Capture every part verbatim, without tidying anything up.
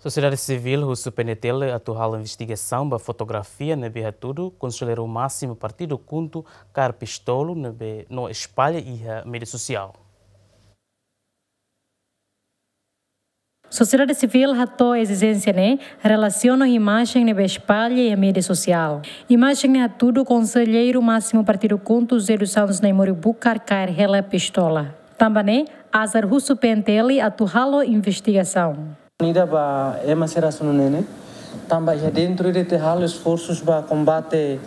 Sosiedade sivíl husu P N T L atu halo investigasaun ba fotografia ne'ebé hatudu konselleiru másimu partidu KHUNTO kaer pistolu ne'ebé no espalla iha média sosiál. Sosiedade sivíl hato'o ezijénsia ne'e relasiona ho imajen ne'ebé espalla iha média sosiál. Imajen ne'e hatudu konselleiru másimu partidu KHUNTO José dos Santos Naimori Bucar kaer hela pistola. Tanba ne'e, ASAR husu P N T L atu halo investigasaun. Ida ba ema sira sunu nene, tanba iha dentru ida ita halo esforsus ba kombate,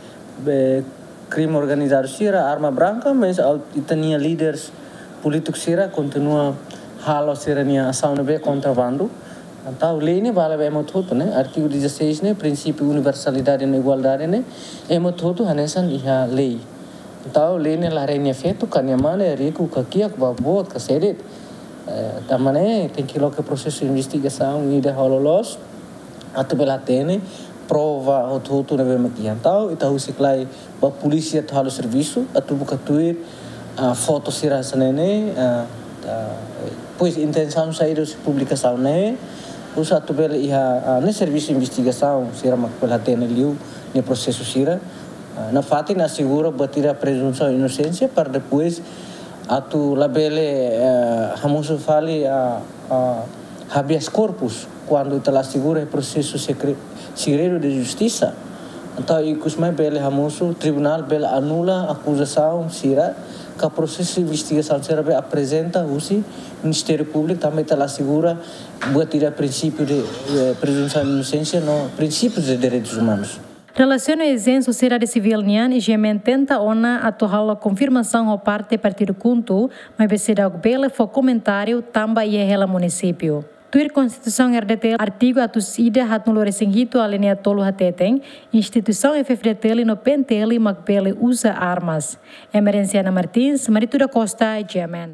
eh, krime organizadu sira, arma branka, mas ita-nia líderes polítiku sira kontinua halo sira-nia asaun ne'ebé kontra bandu. Entaun lei ne'e vale ba ema hotu-hotu, ne'e artigu dezasseis ne'e, prinsípiu universalidade no igualdade ne'e, ema hotu-hotu hanesan iha lei. Entaun lei ne'e la haree nia feto, ka nia mane, riku, ka kiak, ba boot, ka sedet. Eh, tanba ne'e tenke loke prosesu investigasaun ida halo loos, atu bele hatene prova hotu-hotu ne'ebé mak iha. Entaun ita husik lai ba polísia atu halo servisu, atu buka tuir, ah, foto sira hanesan ne'e, ah, ah, depois intensaun saida husi publikasaun ne'e, husu atu bele iha, ah, ne'e servisu investigasaun sira mak bele hatene liu ne'e prosesu sira. Ah, nafatin asegura buat ida prezunsaun inosénsia para depois atu labele, eh, hamosu fali, ah, ah, habeas corpus kuandu ita la asegura prosesu sekre-, segredu de justisa. Entaun ikus mai bele hamosu, tribunál bele anula akuzasaun sira, ka prosesu investigasaun sira be aprezenta husi Ministériu Públiku, tanba ita la asegura buat ida prinsípiu de, eh, prezunsaun inosénsia no prinsípius de direitus umanus. Relasiona ezijénsia sosiedade sivíl nian, I G M N tenta ona atu halo konfirmasaun ho parte partidu KHUNTO, maibé seidauk bele fó komentáriu tanba iha hela munisípiu. Tuir Konstituisaun R D T L, artigu atus ida haatnulu-resin-hitu, alínea tolu hateten, instituisaun F-FDTL no P N T L mak bele uza armas. Emerenciana Martins, Marito da Costa, I G M N.